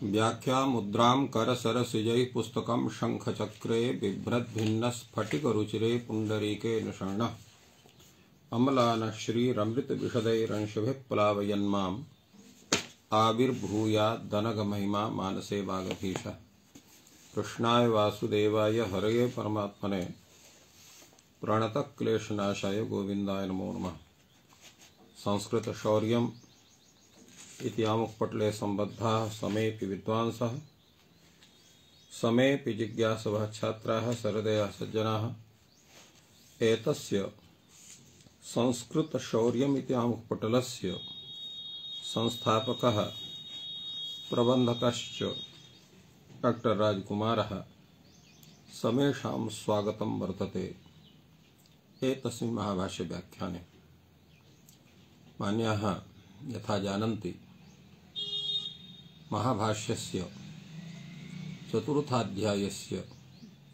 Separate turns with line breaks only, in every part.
व्याख्या मुद्रां करसरसिजैः पुस्तकं शङ्खचक्रे बिभ्रद्भिन्नस्फटिकरुचिरे पुण्डरीके निषण्णः अमलानः श्रीरमृतविशदैरंशभिः प्लावयन्माम् आविर्भूयाद्दनगमहिमा मानसे वागधीशः। कृष्णाय वासुदेवाय हरये परमात्मने प्रणतक्लेशनाशाय गोविन्दाय नमो नमः। संस्कृतशौर्यम् इति आमुखपटले सम्बद्धाः समेऽपि विद्वांसः समेऽपि जिज्ञासवः छात्राः सहृदयाः सज्जनाः एतस्य संस्कृतशौर्यम् इति आमुखपटलस्य संस्थापकः प्रबन्धकश्च डॉक्टर राजकुमारः समेषां स्वागतं वर्तते एतस्मिन् महाभाष्यव्याख्याने। मान्याः यथा जानन्ति महाभाष्यस्य चतुर्थाध्यायस्य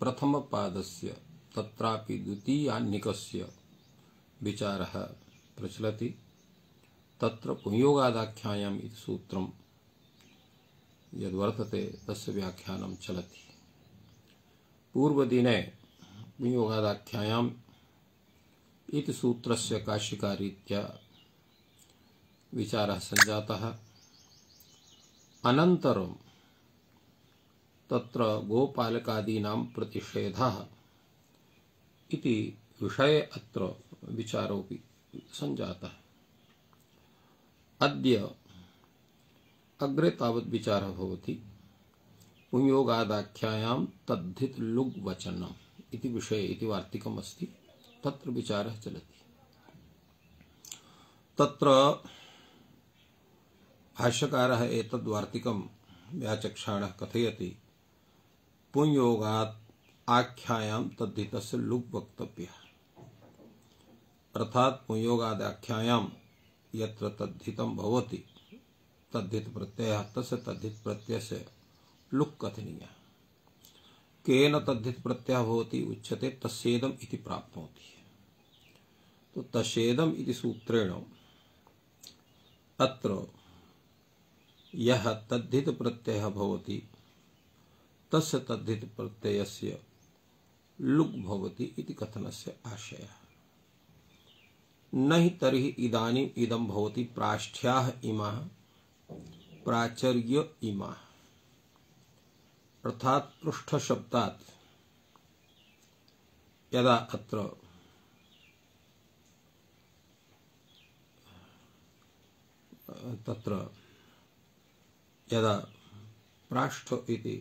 प्रथमपादस्य तत्रापि द्वितीयाह्निकस्य विचारः प्रचलति। तत्र पुंयोगादाख्यायाम् इति सूत्रं यद्वर्तते तस्य व्याख्यानं चलति। पूर्वदिने पुंयोगादाख्यायाम् इति सूत्रस्य काशिकारीत्या विचारः सञ्जातः। अनन्तरं तत्र गोपालकादीनां प्रतिषेधः इति विषये अत्र विचारोऽपि सञ्जातः। अद्य अग्रे तावत् विचारः भवति पुंयोगादाख्यायां तद्धित लुग् वचनम् इति विषये इति वार्तिकम् अस्ति, तत्र विचारः चलति। तत्र भाष्यकारः एतद्वार्तिकं व्याचक्षाणः कथयति पुंयोगात् आख्यायां तद्धितस्य लुग् वक्तव्यः। अर्थात् पुंयोगादाख्यायां यत्र तद्धितं भवति तद्धित प्रत्ययः तस्य तद्धित प्रत्ययस्य लुक् कथनीयः। केन तद्धित प्रत्ययः भवति उच्यते तस्येदम् इति प्राप्नोति। तो तस्येदम् इति सूत्रेण अत्र यः तद्धित प्रत्ययः भवति तस्य तद्धित प्रत्ययस्य लुग् भवति इति कथनस्य आशयः। न हि तर्हि इदानीम् इदं भवति प्राष्ठ्याः इमाः प्राचर्य इमाः, अर्थात् पृष्ठ शब्दात् यदा अत्र तत्र यदा प्राष्ठ इति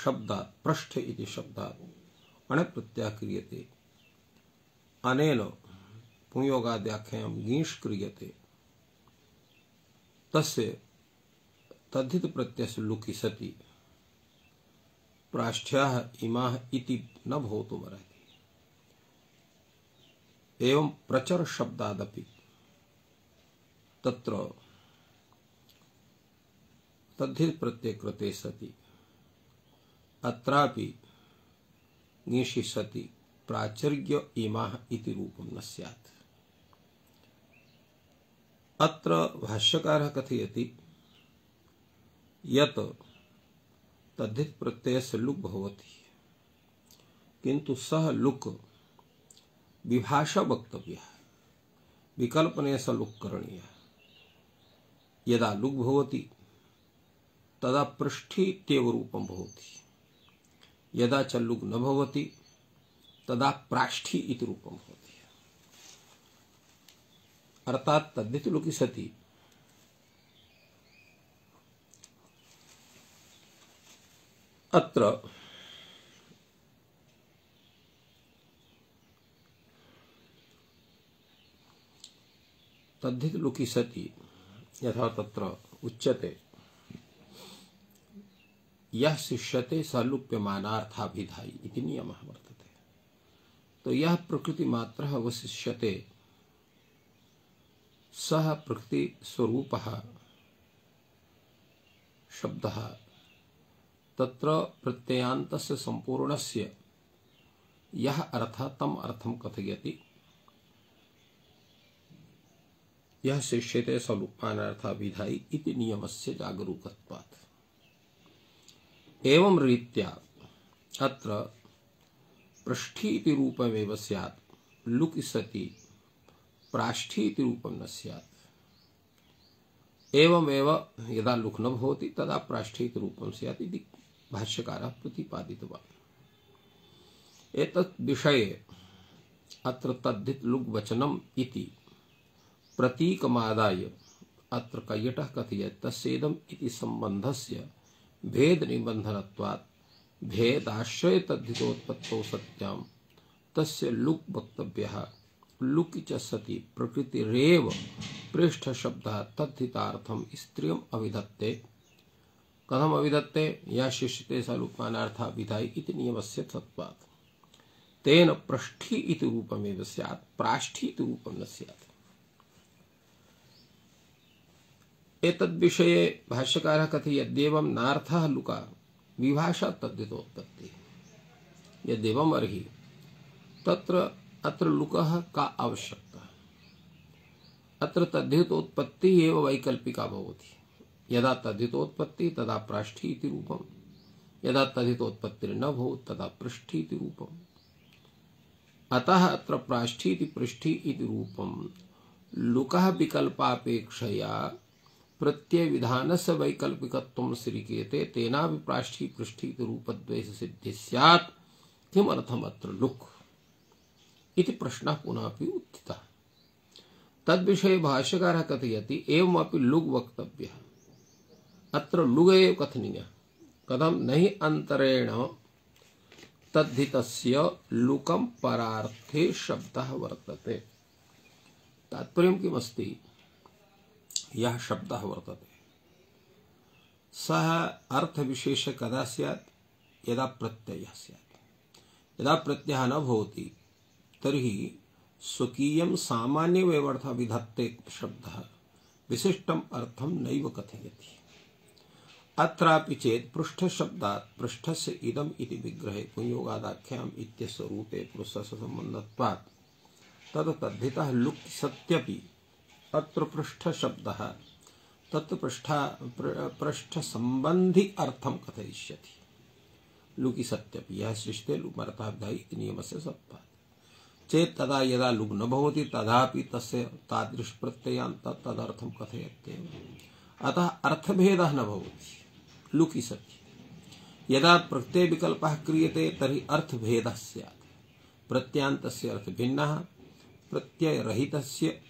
शब्दात् पृष्ठ इति शब्दात् अण् प्रत्ययः क्रियते, अनेन पुंयोगाद्याख्यायां ङीष् क्रियते, तस्य तद्धित प्रत्ययस्य लुकि सति प्राष्ठ्याः इमाः इति न भवितुमर्हति। एवं प्रचर शब्दादपि तत्र तद्धित प्रत्यय कृते सति अत्रापि ङीषि सति प्राचर्य इमाः इति रूपं न स्यात्। अत्र भाष्यकारः कथयति यत् तद्धित प्रत्ययस्य लुक् भवति, किन्तु सः लुक् विभाषा वक्तव्यः, विकल्पने स लुक् करणीयः। यदा लुक् भवति तदा पृष्ठी इत्येव रूपं भवति, यदा च लुक् न भवति तदा प्राष्ठी इति रूपं भवति। अर्थात् तद्धित लुकि सति अत्र तद्धित लुकि सति यथा तत्र उच्यते यः शिष्यते स लुप्यमानार्थाभिधायी इति नियमः वर्तते। तो यः प्रकृति मात्रः अवशिष्यते सः प्रकृति स्वरूपः शब्दः तत्र प्रत्ययान्तस्य संपूर्णस्य यः अर्थः तम् अर्थं कथयति। यः शिष्यते स लुप्यमानार्थाभिधायी इति नियमस्य जागरूकत्वात्। एवं रीत्या अत्र पृष्ठी इति रूपमेव स्यात्, लुकि सति प्राष्ठी इति रूपं न स्यात्। एवमेव यदा लुक् न भवति तदा प्राष्ठी इति रूपं स्यात् इति भाष्यकारः प्रतिपादितवान्। एतत् विषये अत्र तद्धित लुग् वचनम् इति प्रतीकमादाय अत्र कैयटः कथयति तस्येदम् इति सम्बन्धस्य भेद निबन्धनत्वात् भेदाश्रय तद्धितोत्पत्तौ सत्यां तस्य लुक् वक्तव्यः। लुकि च सति प्रकृतिरेव पृष्ठ शब्दः तद्धितार्थं स्त्रियम् अविधत्ते। कथम अविधत्ते? या शिष्यते स लुक्मानार्थः विधायि इति नियमस्य तत्त्वात्। तेन पृष्ठी इति रूपमेव स्यात्, प्राष्ठी इति रूपं न स्यात्। एतद्विषये भाष्यकारः कथयति यद्येवं नार्थः लुका विभाषा तद्धितोत्पत्ति। यद्येवम् अर्हि तत्र अत्र लुकः का आवश्यकता? अत्र तद्धितोत्पत्ति एव वैकल्पिका भवति। यदा तद्धितोत्पत्ति तदा प्राष्ठी इति रूपम्, यदा तद्धितोत्पत्तिर्न भवेत् तदा पृष्ठी इति रूपम्। अतः अत्र प्राष्ठी इति पृष्ठी इति रूपम् लुकः विकल्पापेक्षया प्रत्यय विधानस्य वैकल्पिकत्वं स्वीक्रियते, तेनापि प्राष्ठी पृष्ठी इति रूपद्वयस्य सिद्धिः स्यात्। किमर्थम् अत्र लुक् इति प्रश्नः पुनः अपि उत्थितः। तद्विषये भाष्यकारः कथयति एवमपि लुग् वक्तव्यः। अत्र लुग् एव कथनीयः। कथं? न हि अन्तरेण तद्धितस्य लुकं परार्थे शब्दः वर्तते। तात्पर्यं किमस्ति? यः शब्दः वर्तते सः अर्थविशेषः कदा स्यात्? यदा प्रत्ययः स्यात्। यदा प्रत्ययः न भवति तर्हि स्वकीयं सामान्यमेवर्थः विधत्ते शब्दः विशिष्टम् अर्थं नैव कथयति। अत्रापि चेत् पृष्ठशब्दात् पृष्ठस्य इदम् इति विग्रहे पुंयोगादाख्याम् इत्यस्य रूपे पुरुषस्य सम्बन्धत्वात् तत् तद्धितः लुक् सत्यपि अत्र पृष्ठशब्दः तत् पृष्ठसम्बन्धि अर्थं कथयिष्यति। लुकि सत्यपि यः शिष्टे लुक्मर्थः विधायि इति नियमस्य सत्त्वात् चेत् तदा यदा लुग् न भवति तदापि तस्य तादृश प्रत्ययान्त तदर्थं कथयत्येव। अतः अर्थभेदः न भवति लुकि सति। यदा प्रत्यय विकल्पः क्रियते तर्हि अर्थभेदः स्यात्। प्रत्ययान्तस्य अर्थभिन्नः, प्रत्ययरहितस्य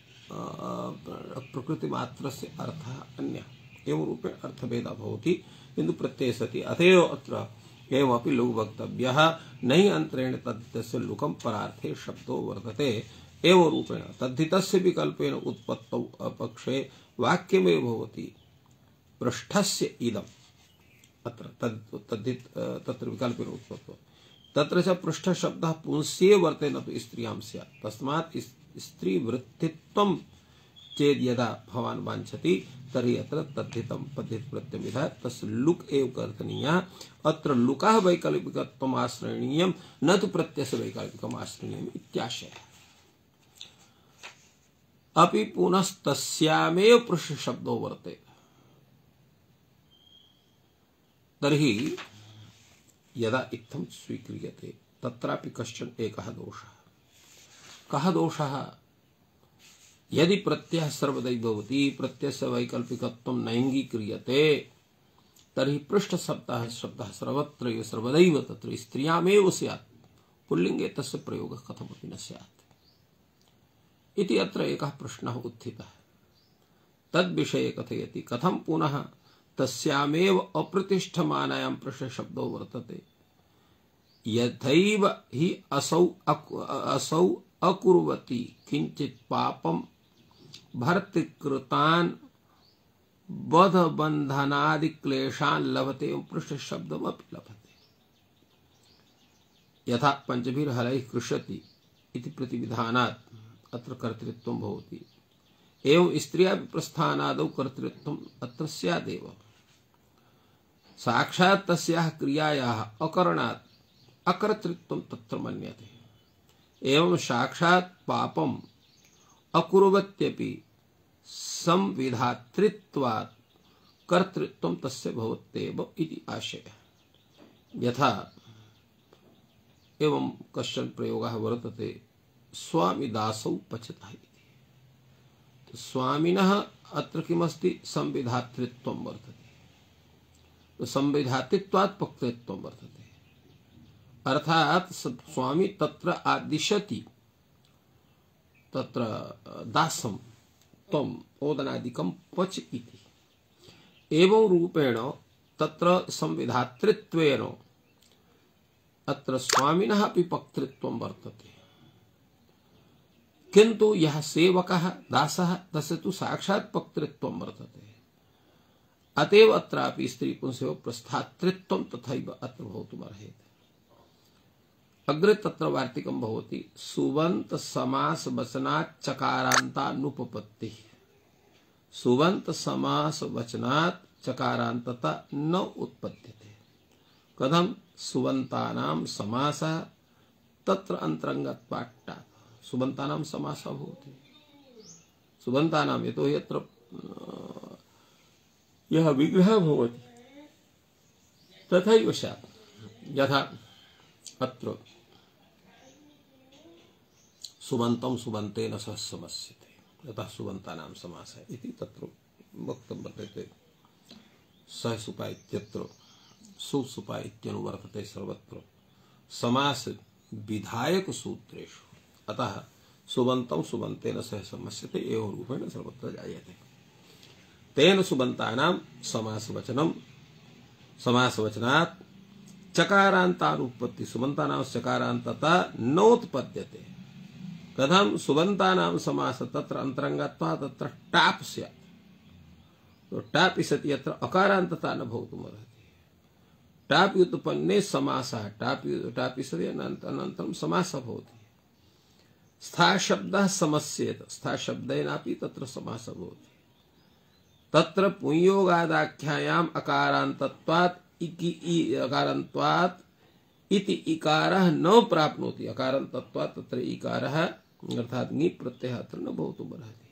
प्रकृतिमात्रस्य अर्थः अन्यः। एवं रूपेण अर्थभेदः भवति किन्तु प्रत्यये सति। अतएव अत्र एवमपि लुग् वक्तव्यः। न हि अन्तरेण तद्धितस्य लुकं परार्थे शब्दो वर्तते। एवं रूपेण तद्धितस्य विकल्पेन उत्पत्तौ अपक्षे वाक्यमेव भवति पृष्ठस्य इदम्। अत्र तत्र विकल्पेन उत्पत्तौ तत्र च पृष्ठशब्दः पुंस्येव वर्ते न तु स्त्रियां स्यात्। तस्मात् स्त्रीवृत्तित्वं चेद् यदा भवान् वाञ्छति तर्हि अत्र तद्धितं पद्धित प्रत्ययः तस्य लुक् एव कर्तनीयः। अत्र लुकः वैकल्पिकत्वम् आश्रयणीयं न तु प्रत्ययस्य वैकल्पिकम् आश्रयणीयम् इत्याशयः। अपि पुनस्तस्यामेव पृष्ठशब्दो वर्तेते। तर्हि यदा इत्थं स्वीक्रियते तत्रापि कश्चन एकः दोषः। कः दोषः? यदि प्रत्ययः सर्वदैव भवति, प्रत्ययस्य वैकल्पिकत्वं नैङ्गीक्रियते तर्हि पृष्ठशब्दः सर्वत्र सर्वदैव तत्र स्त्रियामेव स्यात्। पुल्लिङ्गे तस्य प्रयोगः कथमपि न स्यात् इति अत्र एकः प्रश्नः उत्थितः। तद्विषये कथयति कथं पुनः तस्यामेव अप्रतिष्ठमानायां पृष्ठशब्दो वर्तते। यथैव हि असौ अकुर्वति किंचित् पापं भर्तृकृतान् बधबन्धनादि क्लेशान् लभते पृष्ठशब्दमपि लभते। यथा पंचभिर्हलैः कृष्यति इति प्रतिविधानात् अत्र कर्तृत्वं भवति। एवं स्त्रियापि प्रस्थानादौ कर्तृत्वम् अत्र स्यादेव। साक्षात् तस्याः क्रियायाः अकरणात् अकर्तृत्वं तत्र मन्यते। एवं साक्षात् पापम् अकुर्वत्यपि संविधातृत्वात् कर्तृत्वं तस्य भवत्येव इति आशयः। यथा एवं कश्चन प्रयोगः वर्तते, स्वामिदासौ पचतः इति। तो स्वामिनः अत्र किमस्ति, संविधातृत्वं वर्तते। तो संविधातृत्वात् पक्तृत्वं वर्तते, अर्थात स्वामी तत्र आदिशति, तत्र दासं त्वम् ओदनादिकं पच इति। एवं रूपेण तत्र संविधातृत्वेन अत्र स्वामिनः अपि पक्तृत्वं वर्तते, किन्तु यः सेवकः दासः तस्य तु साक्षात् पक्तृत्वं वर्तते। अतएव अत्रापि स्त्री पुंसयोः प्रस्थातृत्वं तथैव अत्र भवितुमर्हति। अग्रे तत्र वार्तिकं भवति, सुबन्त समास वचनात् चकारान्तानुपपत्तिः। सुबन्त समास वचनात् चकारान्तता न उत्पद्यते। कथं, सुबन्तानां समासः तत्र अन्तरङ्गत्वात्। सुबन्तानां समासः भवति, सुबन्तानां यतो यत्र यः विग्रहः भवति तथैव स्यात्। यथा अत्र सुबन्तं सुबन्तेन सह समस्यते, यतः सुबन्तानां समासः इति तत्र वक्तुं वर्तते। सहसुपा इत्यत्र सुसुपा इत्यनुवर्तते सर्वत्र समास विधायक सूत्रेषु, अतः सुबन्तं सुबन्तेन सह समस्यते एवं रूपेण सर्वत्र जायते। तेन सुबन्तानां समासवचनं, समासवचनात् चकारान्तानुपत्ति, सुबन्तानां चकारान्तता नोत्पद्यते। कथं, सुबन्तानां समास तत्र अन्तरङ्गत्वात् तत्र टाप् स्यात्। तो टाप् सति यत्र अकारान्तता न भवितुमर्हति। टाप् व्युत्पन्ने समासः, टाप् सति अनन्तरं समासः भवति। स्था शब्दः समस्येत, स्था शब्देनापि तत्र समासः भवति। तत्र पुंयोगादाख्यायाम् अकारान्तत्वात् अकारान्तत्वात् इति इकारः न प्राप्नोति। अकारान्तत्वात् तत्र इकारः अर्थात् ङि प्रत्ययः अत्र न भवितुमर्हति।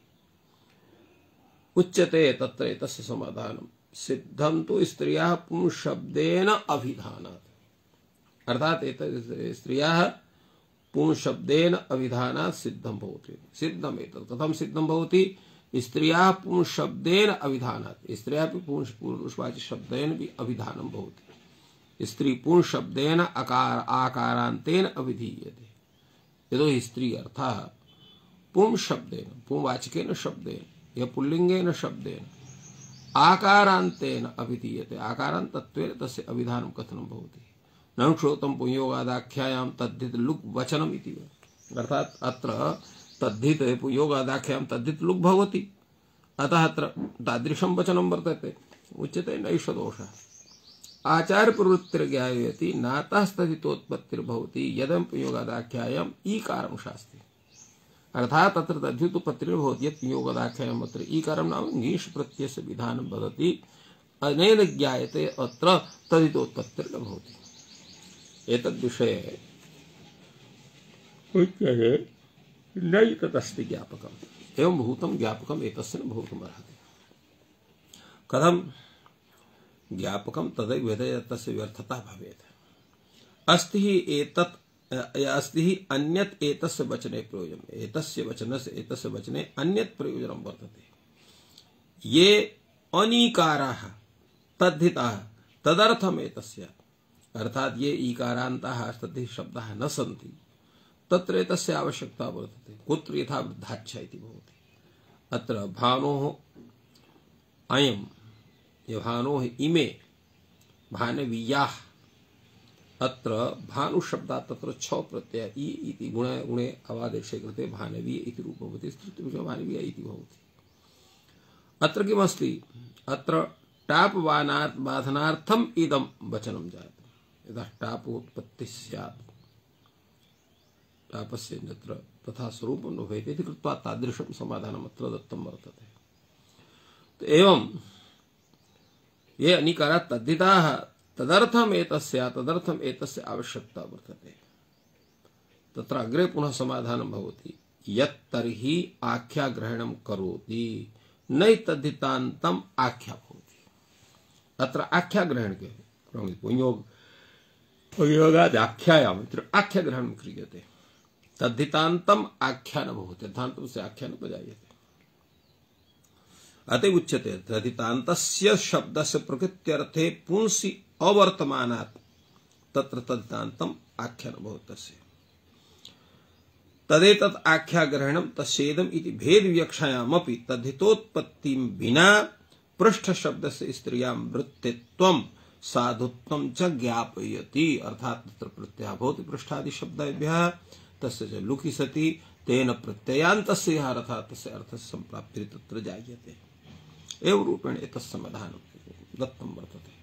उच्यते तत्र एतस्य समाधानं, सिद्धं तु स्त्रियः पुंशब्देन अभिधानात्। अर्थात् एतत् स्त्रियः पुंशब्देन अभिधानात् सिद्धं भवति। सिद्धम् एतत् कथं सिद्धं भवति, स्त्रियः पुंशब्देन अभिधानात्। स्त्रियः अपि पुरुषवाचि शब्देन भी अभिधानं भवति। स्त्री पुंशब्देन आकारान्तेन अभिधीयते। यतो हि स्त्री अर्थः पुंशब्देन, पुंवाचकेन शब्देन या पुल्लिंगेन शब्देन आकारान्तेन अभिधीयते। आकारान्तत्वेन तस्य अभिधानं कथनं भवति। न श्रोतं पुंयोगादाख्यायां तद्धित लुक् वचनम् इति। अर्थात् अत्र तद्धित पुंयोगादाख्यायां तद्धित लुक् भवति, अतः अत्र तादृशं वचनं वर्तते। उच्यते नैष दोषः। आचार्य प्रवृत्तिर्ज्ञायते नातस्तदितोत्पत्तिर्भवति यदं पुंयोगादाख्यायाम् ईकारं शास्ति। अर्थात तत्र तद्धितोत्पत्तिर्भवति यत् पुंयोगादाख्यायाम् अत्र ईकारं नाम ङीष् प्रत्ययस्य विधानं वदति। अनेन ज्ञायते अत्र तदितोत्पत्तिर्न भवति। एतद्विषये उच्यते नैतदस्ति ज्ञापकम्। एवं भूतं ज्ञापकम् एतस्य न भवितुमर्हति। कथं, ज्ञापकं तदैव यत् तस्य व्यर्थता भवेत्। अस्ति हि एतत् अस्ति हि अन्यत् एतस्य वचने प्रयोजनम्। एतस्य वचने अन्यत् प्रयोजनं वर्तते। ये अनीकाराः तद्धिताः तदर्थम् एतस्य, अर्थात् ये ईकारान्ताः तद्धित शब्दाः न सन्ति तत्र एतस्य आवश्यकता वर्तते। कुत्र, यथा वृद्धाच्छ इति भवति। अत्र भानोः अयं भानोः इमे भानवीयाः, अत्र भानु शब्दात् तत्र छ प्रत्यय इ इति गुणे अवादेशे कृते भानवीय इति रूपं भवति। स्त्रीलिङ्गे भानवीय इति भवति। अत्र किमस्ति, अत्र टाप् बाधनार्थम् इदं वचनं जातं। यदा टाप् उत्पत्तिः स्यात् टापस्य तत्र तथा स्वरूपं न भवेत् इति कृत्वा तादृशं समाधानम् अत्र दत्तं वर्तते। तो एवं ये अनिकाराः तद्धिताः तदर्थम् एतस्य आवश्यकता वर्तते। तत्र अग्रे पुनः समाधानं भवति यत् तर्हि आख्याग्रहणं करोति नैतद्धितान्तम् आख्या भवति। अत्र आख्याग्रहण के पुंयोग संयोगाद्याख्यायाम् इति आख्याग्रहणं क्रियते। तद्धितान्तम् आख्यान भवति, तद्धितान्तं से आख्यान जायते। अतः उच्यते तद्धितान्तस्य शब्दस्य प्रकृत्यर्थे पुंसि अवर्तमानात् तत्र तद्धितान्तम् आख्यान भवति तस्य। तदेतत् आख्याग्रहणं तस्येदम् इति भेदविवक्षायामपि तद्धितोत्पत्तिं विना पृष्ठ शब्दस्य स्त्रियां वृत्तित्वं साधुत्वं च ज्ञापयति। अर्थात् तत्र प्रत्ययः भवति पृष्ठादि शब्देभ्यः, तस्य च लुकि सति तेन प्रत्ययान्तस्य अर्थात् तस्य अर्थस्य सम्प्राप्तिः तत्र जायते। एवं रूपेण एतत् समाधानं दत्तं वर्तते।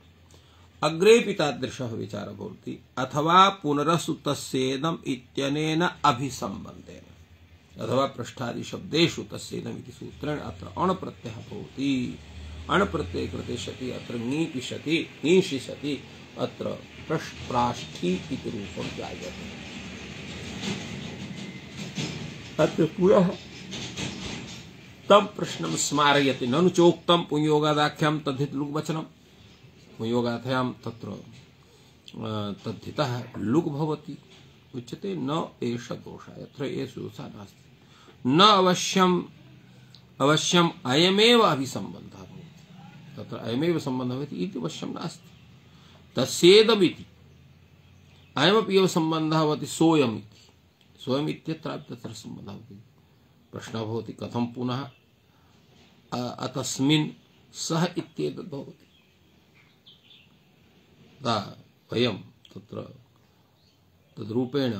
अग्रेपि तादृशः विचारः भवति। अथवा पुनरसु तस्येदम् इत्यनेन अभिसम्बन्धेन, अथवा पृष्ठादि शब्देषु तस्येदम् इति सूत्रेण अत्र अण् प्रत्ययः भवति। अण् प्रत्यये कृते सति अत्र ङीपि सति ङीषि सति अत्र प्राष्ठी इति रूपं जायते। अत्र पुनः तम प्रश्नं स्मारयति। ननु चोक्तं पुंयोगादाख्यां तद्धित लुक् वचनं। पुंयोगाख्यां तत्र तद्धितः लुक् भवति। उच्यते न एष दोषः, यत्र एष दोषः नास्ति। न अवश्यम् अयमेव अभिसम्बन्धः भवति, तत्र अयमेव सम्बन्धः भवति इति अवश्यं नास्ति। तस्येदमिति अयमपि एव सम्बन्धः भवति सोऽयम् इति। सोऽयम् इत्यत्रापि तत्र सम्बन्धः भवति। प्रश्नः भवति कथं पुनः अतस्मिन् सः इत्येतद् भवति। वयं तत्र तद्रूपेण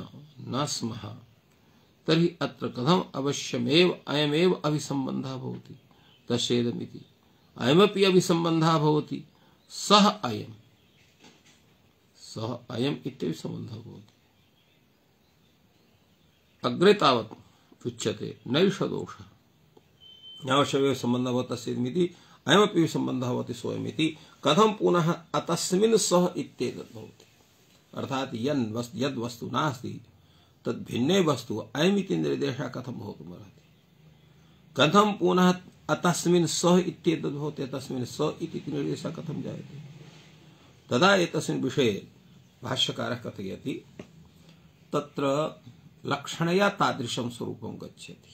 न स्मः, तर्हि अत्र कथम् अवश्यमेव अयमेव अभिसम्बन्धः भवति। तस्येदमिति अयमपि अभिसम्बन्धः भवति। सः अयम् इत्यपि सम्बन्धः भवति। अग्रे तावत् उच्यते नैष दोषः, अवश्यमेव सम्बन्धः भवति तस्येदमिति अयमपि सम्बन्धः भवति सोऽयमिति। कथं पुनः अतस्मिन् सः इत्येतद् भवति। अर्थात् यद् वस्तु नास्ति तद् भिन्ने वस्तु अयमिति निर्देशः कथं भवितुमर्हति। कथं पुनः अतस्मिन् सः इत्येतद् भवति, तस्मिन् स इति निर्देशः कथं जायते। तदा एतस्मिन् विषये भाष्यकारः कथयति तत्र लक्षणया तादृशं स्वरूपं गच्छति।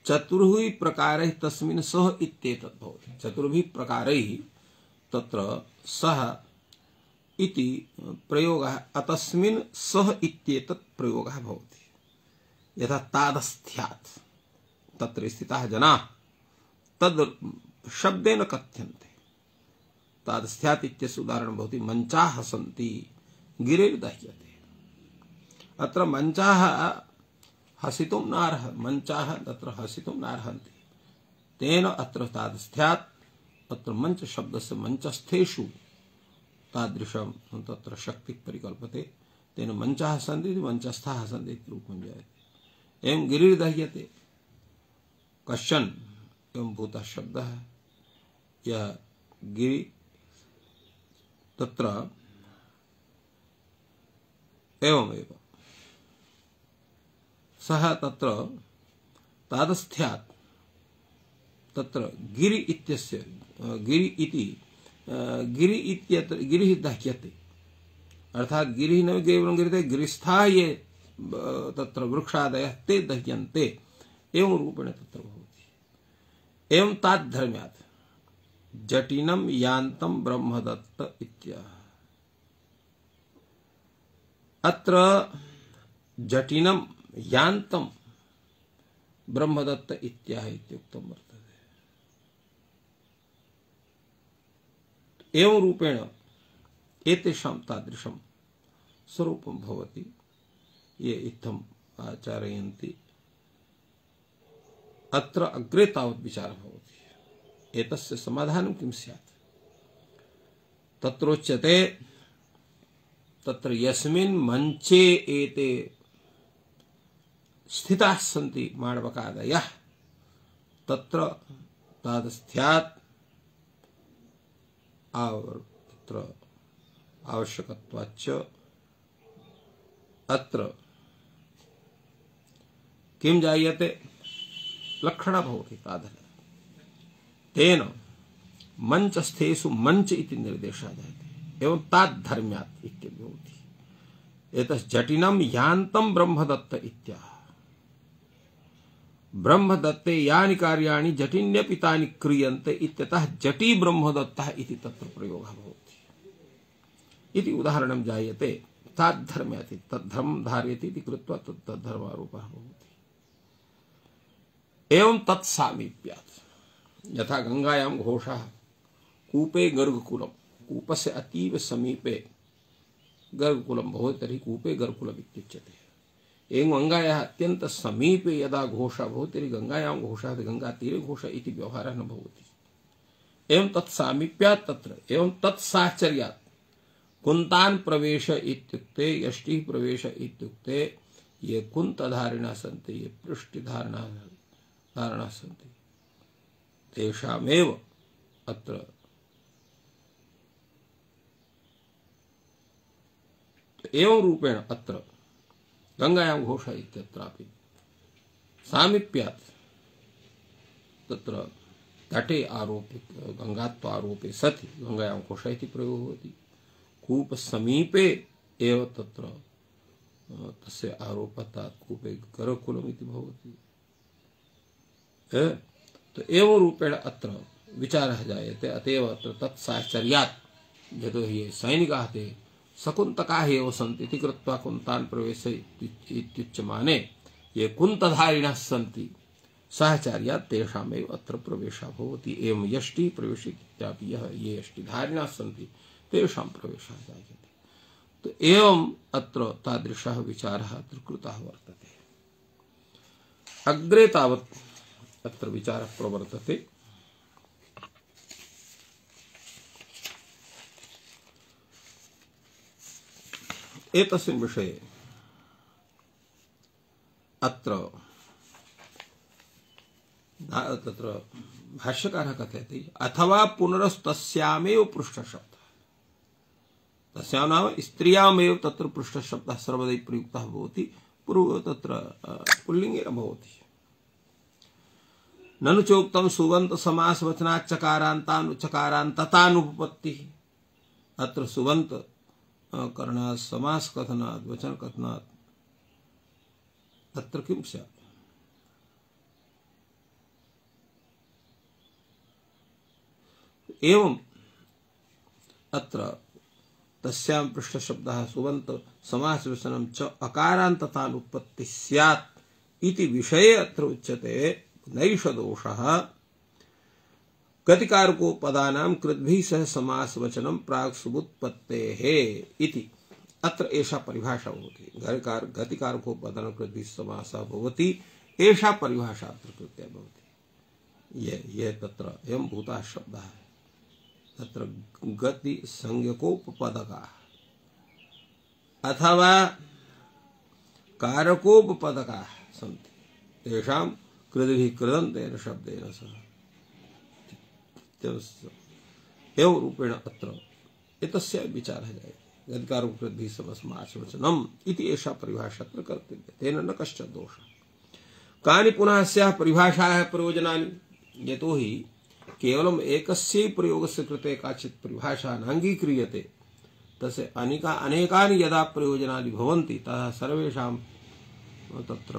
चतुर्भिः प्रकारैः तस्मिन् सः इत्येतद् भवति। चतुर्भिः प्रकारैः तत्र सः इति प्रयोगः अतस्मिन् सः इत्येतत् प्रयोगः भवति। यथा तादस्थ्यात्, तत्र स्थिताः जनाः तद् शब्देन कथ्यन्ते। तादस्थ्यात् इत्यस्य उदाहरणं भवति मञ्चाः सन्ति गिरिर्दह्यते। अत्र मञ्चाः हसितुं नार्ह, मञ्चाः तत्र हसितुं नार्हन्ति। तेन अत्र तादस्थ्यात् अत्र मञ्च शब्दस्य मञ्चस्थेषु तादृशं तत्र शक्तिः परिकल्पते। तेन मञ्चाः सन्ति मञ्चस्थाः सन्ति इति रूपं जायते। एवं गिरिर्दह्यते, कश्चन एवं भूतः शब्दः यः गिरि तत्र एवमेव सः तत्र तादस्थ्यात् तत्र गिरि इत्यस्य गिरि इति गिरि इत्यत्र गिरिः दह्यते। अर्थात् गिरिः न केवलं गिरिते, गिरिस्थाः ये तत्र वृक्षादयः ते दह्यन्ते। एवं रूपेण तत्र भवति। एवं ताद्धर्म्यात् जटिनं यान्तं ब्रह्मदत्त इत्याह। अत्र जटिनं यान्तं ब्रह्मदत्त इत्याह इत्युक्तं वर्तते। एवं रूपेण एतेषां तादृशं स्वरूपं भवति। ये इत्थम् आचरयन्ति। अत्र अग्रे तावत् विचारः भवति एतस्य समाधानं किं स्यात्। तत्रोच्यते तत्र यस्मिन् मञ्चे एते स्थिताः सन्ति माणवकादयः तत्र तादस्थ्यात् तत्र आवश्यकत्वाच्च अत्र किं जायते लक्षणः भवति तादृश। तेन मञ्चस्थेषु मञ्च इति निर्देशः जायते। एवं ताद्धर्म्यात् इत्यपि भवति। एतज्जटिनं यान्तं ब्रह्मदत्त इत्याह। ब्रह्मदत्ते यानि कार्याणि जटिन्यपि तानि क्रियन्ते इत्यतः जटी ब्रह्मदत्तः इति तत्र प्रयोगः भवति इति उदाहरणं जायते। ताद्धर्म्याति तद्धर्मं धारयति इति कृत्वा तद्धर्मारोपः भवति। एवं तत्सामीप्यात् यथा गंगायां घोषः कूपे गर्गकुलं, कूपस्य अतीव समीपे गर्गकुलं भवति तर्हि कूपे गर्गकुलम् इत्युच्यते। एवं गंगायाः अत्यन्त समीपे यदा घोषः भवति तर्हि गंगायां घोषः गंगातीरे घोषः इति व्यवहारः न भवति। एवं तत्सामीप्यात् तत्र एवं तत्साहचर्यात् कुन्तान् प्रवेश इत्युक्ते यष्टिः प्रवेश इत्युक्ते ये कुन्तधारिणः सन्ति, ये पृष्ठधारिणः सन्ति, तेषामेव अत्र एवं रूपेण अत्र गंगायां घोषः इत्यत्रापि सामीप्यात् तत्र तटे आरोपे गंगात्वारोपे सति गंगायां घोषः इति प्रयोगो भवति। कूप समीपे एव तत्र तस्य आरोपतात् कूपे गर्गकुलम् इति भवति। तो एवं रूपेण अत्र विचारः जायते। अतएव अत्र तत्साहचर्यात् यतोहि ये सैनिकाः ते सकुन्तकाः एव सन्ति इति कृत्वा कुन्तान् प्रवेश इत्युच्यमाने ये कुन्तधारिणः सन्ति साहचर्यात् तेषामेव अत्र प्रवेशः भवति। एवं यष्टि प्रवेश इत्यापि ये यष्टिधारिणः सन्ति तेषां प्रवेशः जायते। तो एवं अत्र तादृशः विचारः अत्र कृतः वर्तते। अग्रे तावत् अत्र विचारः प्रवर्तते। एतस्मिन् विषये अत्र तत्र भाष्यकारः कथयति अथवा पुनरस्तस्यामेव पृष्ठशब्दः। तस्यां नाम स्त्रियामेव तत्र पृष्ठशब्दः सर्वदा प्रयुक्तः भवति। पूर्व तत्र पुल्लिङ्गेन भवति। ननु चोक्तं सुबन्त समास वचनात् चकारान्ततानुपपत्तिः। अत्र सुबन्त करणात् समास कथनात् वचन कथनात् तत्र किं स्यात्? एवं अत्र तस्यां पृष्ठशब्दः सुबन्त समास वचनं च अकारान्ततानुपपत्तिः स्यात् इति विषये अत्र उच्यते नैष दोषः गतिकारकोपदानां कृद्भिः सह समास वचनं प्राक् सुबुत्पत्तेः इति। अत्र एषा परिभाषा भवति। गतिकारकोपदानां कृद्भिः समासः भवति, एषा परिभाषा अत्र कृत्या भवति। ये तत्र एवं भूतः शब्दः तत्र गति संज्ञकोपपदकाः अथवा कारकोपपदकाः सन्ति, तेषां कृद्भिः कृदन्तेन शब्देन सह एवं रूपेण अत्र एतस्य विचारः जायते। गतिकारकोपपद्भिः समासवचनम् इति एषा परिभाषा अत्र कर्तव्या। तेन न कश्चित् दोषः। कानि पुनः अस्याः परिभाषायाः प्रयोजनानि? यतोहि केवलम् एकस्य प्रयोगस्य कृते काचित् परिभाषा नाङ्गीक्रियते, तस्य अनेकानि यदा प्रयोजनानि भवन्ति तदा सर्वेषां तत्र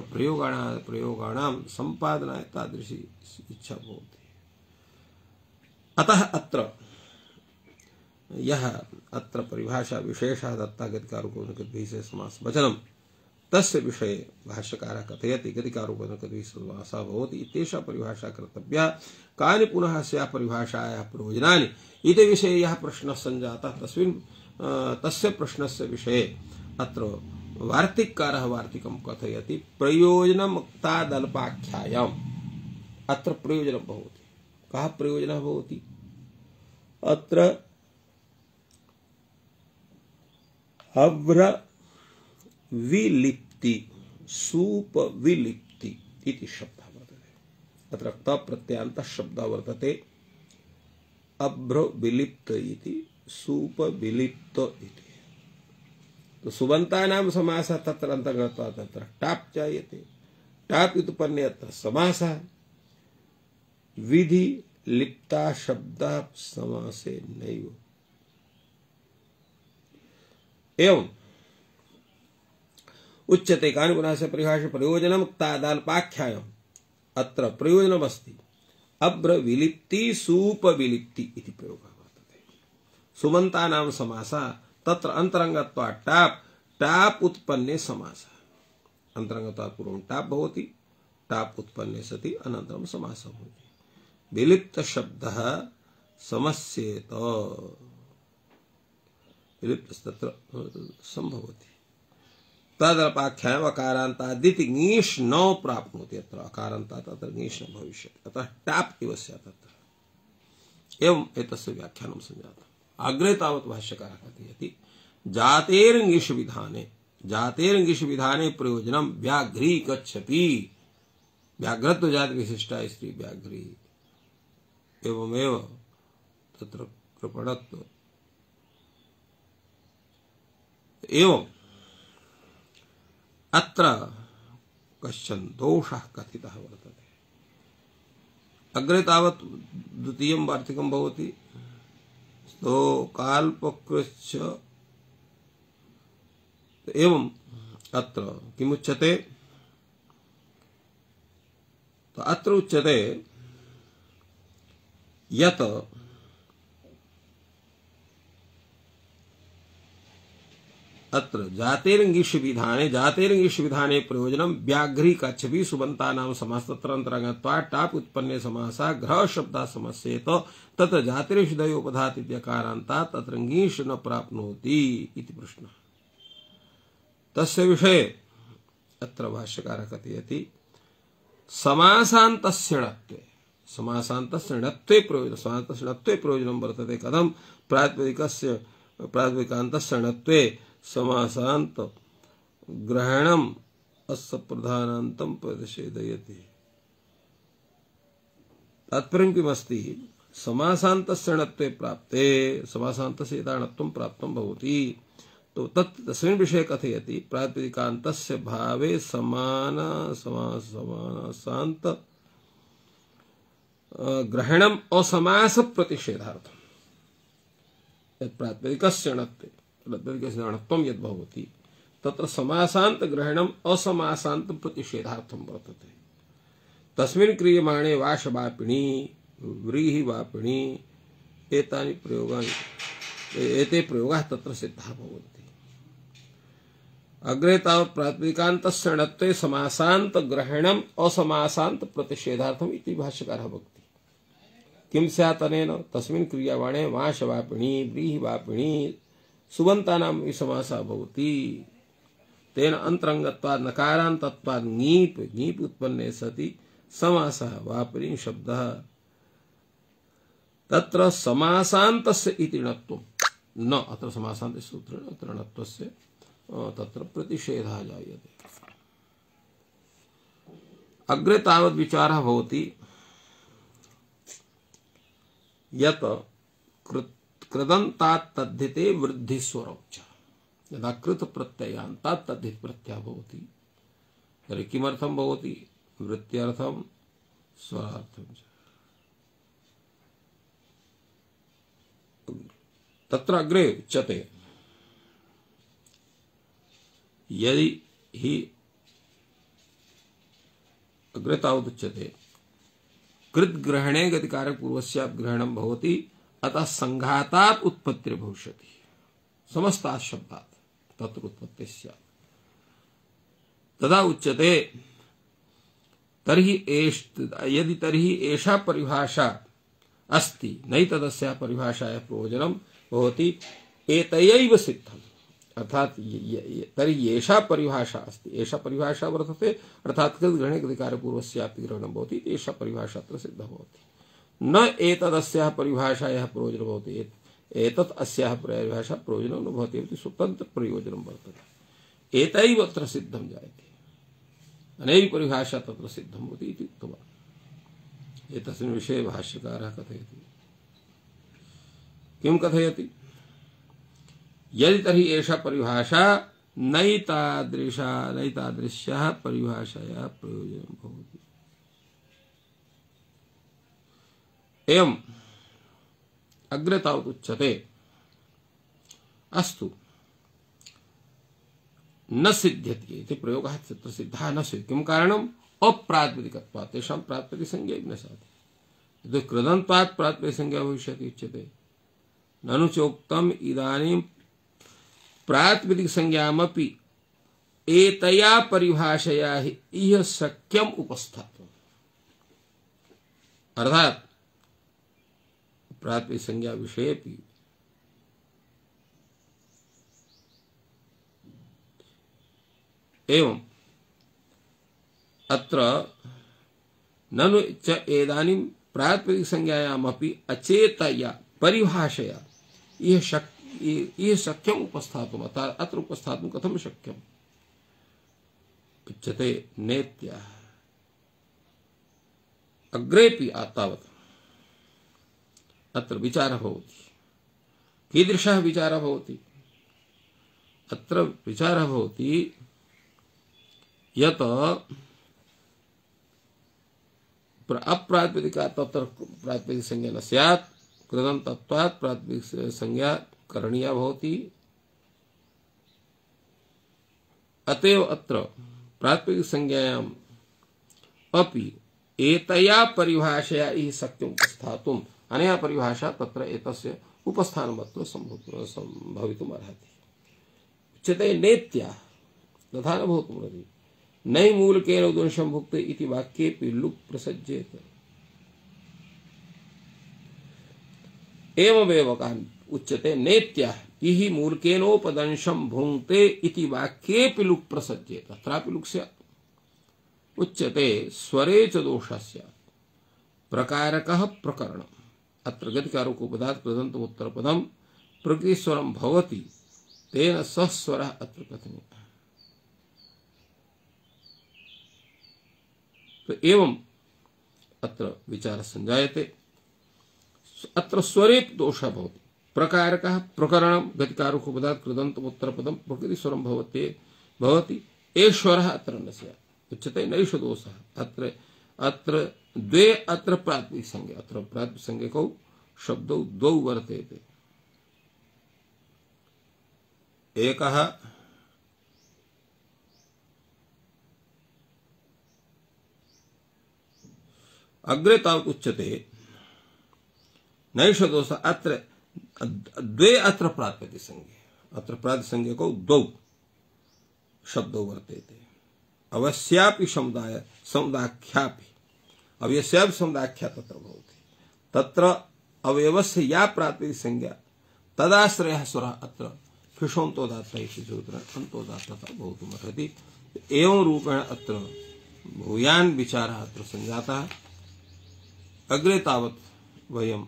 प्रयोगाणां सम्पादनाय तादृशी इच्छा भवति। अतः अत्र यः अत्र परिभाषा विशेषः दत्ता गतिकारकोपपद्भिः सह समास वचनं तस्य विषये भाष्यकारः कथयति गतिकारकोपपद्भिः समासः भवति इत्येषा परिभाषा कर्तव्या। कानि पुनः अस्याः परिभाषायाः प्रयोजनानि इति विषये यः प्रश्नः सञ्जातः तस्य प्रश्नस्य विषये अत्र वार्तिककारः वार्तिकं कथयति। प्रयोजनमुक्तादल्पाख्यायाम् अत्र प्रयोजनं भवति। कः प्रयोजनः भवति? अत्र अभ्रविलिप्ति सूपविलिप्ति इति शब्दः वर्तते। अत्र तप्रत्ययान्तः शब्दः वर्तते। अभ्रविलिप्त इति सूपविलिप्त इति। तो सुबन्तानां समासः तत्र अन्तर्गतः तत्र टाप् जायते। टाप् उत्पन्ने अत्र समासः। विधि लिप्ता शब्दः समासे नैव। एवं उच्यते कानि पुनः परिभाषा प्रयोजनम तादाल्पाख्यायम् अत्र प्रयोजनमस्ति अब्रविलिप्ति सूपविलिप्ति इति प्रयोगः वर्तते। सुबन्तानां समासः तत्र अन्तरङ्गत्वात् टाप् टाप् उत्पन्ने समासः अन्तरङ्गत्वात् पूर्वं टाप् भवति टाप् उत्पन्ने सति अनन्तरं समासः भवति। विलिप्त शब्दः समस्येत विलिप्त तत्र संभवति तदपाख्यायम् अकारान्तादिति ङीष् न प्राप्नोति अत्र अकारान्तात् अत्र ङीष् न भविष्यति अतः टाप् इव स्यात् अत्र एवम् एतस्य व्याख्यानं सञ्जातम्। अग्रे तावत् भाष्यकारः कथयति जातेर्ङीष् विधाने प्रयोजनं व्याघ्री गच्छति व्याघ्रत्व जाति विशिष्टा स्त्री व्याघ्री एवमेव तत्र कृपणत्व एवं अत्र कश्चन दोषः कथितः वर्तते। अग्रे तावत् द्वितीयं वार्तिकं भवति काल्पकृच्छ एवं अत्र किमुच्यते तो अत्र उच्यते यत् अत्र जातेर्ङीष् विधाने प्रयोजनं व्याघ्री कच्छपि सुबन्तानां समासतन्त्रङ्गत्वात् टाप् उत्पन्ने समासः ग्रह शब्दः समस्येत तत्र जातिर्षुदयोपधात् इत्यकारान्तात् तत्र ङीष् न प्राप्नोति इति प्रश्नः। तस्य विषये अत्र भाष्यकारः कथयति समासान्तस्य णत्वे प्रयोजनं वर्तते कथं प्रातिपदिकान्तस्य णत्वे समासान्त ग्रहणम् अस्य प्रधानान्तं प्रतिषेधयति। तात्पर्यं किमस्ति समासान्तस्य णत्वे प्राप्ते समासान्तस्य यदा णत्वं प्राप्तं भवति तो तस्मिन् विषये कथयति प्रातिपदिकान्तस्य भावे समासान्त ग्रहणम् असमास प्रतिषेधार्थम् यत् प्रातिपदिकस्य णत्वे णत्वं यद् भवति तत्र समासान्त ग्रहणम् असमासान्त प्रतिषेधार्थं वर्तते। तस्मिन् क्रियमाणे वाशवापिणी व्रीहिवापिणी एतानि प्रयोगानि एते प्रयोगाः तत्र सिद्धाः भवन्ति। अग्रे तावत् प्रातिपदिकान्तस्य णत्वे समासान्त ग्रहणम् असमासान्त प्रतिषेधार्थम् इति भाष्यकारः वक्ति। किं स्यात् अनेन तस्मिन् क्रियमाणे वाशवापिणी व्रीहिवापिणी सुबन्तानां समासः भवति तेन अन्तरङ्गत्वात् नकारान्तत्वात् ङीप् उत्पन्ने सति समासः वापिनी शब्दः तत्र समासान्तस्य इति णत्वं न अत्र समासान्त सूत्रेण अत्र णत्वस्य तत्र प्रतिषेधः जायते। अग्रे तावत् विचारः भवति यत् कृदन्तात् तद्धिते वृद्धिस्वरौ च यदा कृत प्रत्ययान्तात् तद्धित प्रत्ययः भवति तर्हि किमर्थं भवति वृत्त्यर्थं स्वरार्थं च। तत्र अग्रे उच्यते यदि हि अग्रे तावत् उच्यते कृद्ग्रहणे गतिकारक पूर्वस्यात् ग्रहणं भवति अतः संघातात् उत्पत्तिर् भविष्यति समस्तात् शब्दात् तत्र उत्पत्तिः स्यात् तदा उच्यते यदि तर्हि एषा परिभाषा अस्ति नैतदस्याः परिभाषायाः प्रयोजनं भवति एतयैव सिद्धम् अर्थात तर्हि एषा परिभाषा अस्ति एषा परिभाषा वर्तते अर्थात कृद्ग्रहणे गतिकारक पूर्वस्यापि ग्रहणं भवति एषा परिभाषा अत्र सिद्धा भवति न एतदस्याः परिभाषायाः प्रयोजनं भवति एतत् अस्याः परिभाषा प्रयोजनं न भवति इति स्वतन्त्र प्रयोजनं वर्तते एतैव अत्र सिद्धं जायते अनेन परिभाषा तत्र सिद्धं भवति इति उक्तवान्। एतस्मिन् विषये भाष्यकारः कथयति किं कथयति यदि तर्हि एषा परिभाषा नैतादृश्याः परिभाषायाः प्रयोजनं भवति। एवम् अग्रे तावत् उच्यते अस्तु न सिद्ध्यति इति प्रयोगः तत्र सिद्धः न स्यात्। किं कारणम्? अप्रातिपदिकत्वात् तेषां प्रातिपदिकसंज्ञा न स्यात्। यतो कृदन्त्वात् प्रातिपदिकसंज्ञा भविष्यति उच्यते। ननु चोक्तम् इदानीं प्रातिपदिकसंज्ञामपि एतया परिभाषया हि इह शक्यम् उपस्थातुम्। अर्थात् प्रातिपदिकसंज्ञा विषयेपि एवं अत्र ननु च इदानीं प्रातिपदिकसंज्ञायामपि अचेतया परिभाषया इह शक्यम् उपस्थातुम्। अत्र उपस्थातुं कथं शक्यम्? उच्यते नेत्या। अग्रेपि तावत् अत्र विचारः भवति। कीदृशः विचारः भवति? अत्र विचारः भवति यत् अप्रातिपदिकात् तत्र प्रातिपदिकसंज्ञा न स्यात्, कृदन्तत्वात् प्रातिपदिकसंज्ञा करणीया भवति। अतएव अत्र प्रातिपदिकसंज्ञायाम् अपि एतया परिभाषया इह शक्यम् उपस्थातुम्। अनया परिभाषा तत्र एतस्य उपस्थानमत्र भवितुम् अर्हति। उच्यते नेत्या तथा न भवितुमर्हति। नै मूलकेन उद्वंशं भुक्ते इति वाक्येऽपि लुक् प्रसज्येत। एवमेव उच्यते नेत्या इहि मूलकेनोपदंशं भुङ्क्ते इति वाक्येऽपि लुक् प्रसज्येत। तत्रापि लुक् स्यात्। उच्यते स्वरे च दोषः स्यात्। प्रकारकः प्रकरणम्। अत्र गतिकारकोपदात् कृदन्तमुत्तरपदं प्रकृतिस्वरं भवति, तेन सः स्वरः अत्र कथनीयः। तो एवं अत्र विचारः संजायते। अत्र स्वरे दोषः भवति। प्रकारकः प्रकरणं गतिकारकोपदात् कृदन्तमुत्तरपदं प्रकृतिस्वरं भवति, एश्वरः अत्र न स्यात्। उच्यते नैष दोषः। अत्र द्वे अत्र प्रातिपदिकसंज्ञा। अत्र प्रातिपदिकसंज्ञकौ शब्दौ द्वौ वर्तेते। एकः अग्रे तावत् उच्यते नैष दोषः। अत्र द्वे अत्र प्रातिपदिकसंज्ञे। अत्र प्रातिपदिकसंज्ञकौ द्वौ शब्दौ वर्तेते। अवस्यापि समुदाख्यापि। अवस्यापि समुदाख्या तत्र भवति। तत्र अवयवस्य या प्रातिपदिकसंज्ञा तदाश्रयः स्वरः अत्र फिषोन्तोदात्त इति सूत्रेण अन्तोदात्तः भवितुमर्हति। एवं रूपेण अत्र भूयान् विचारः अत्र सञ्जातः। अग्रे तावत् वयम्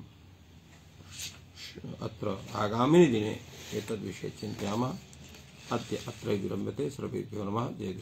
अत्र आगामिनि दिने एतद्विषये चिन्तयामः। अद्य अत्र विरम्यते। सर्वेभ्यो नमः। जय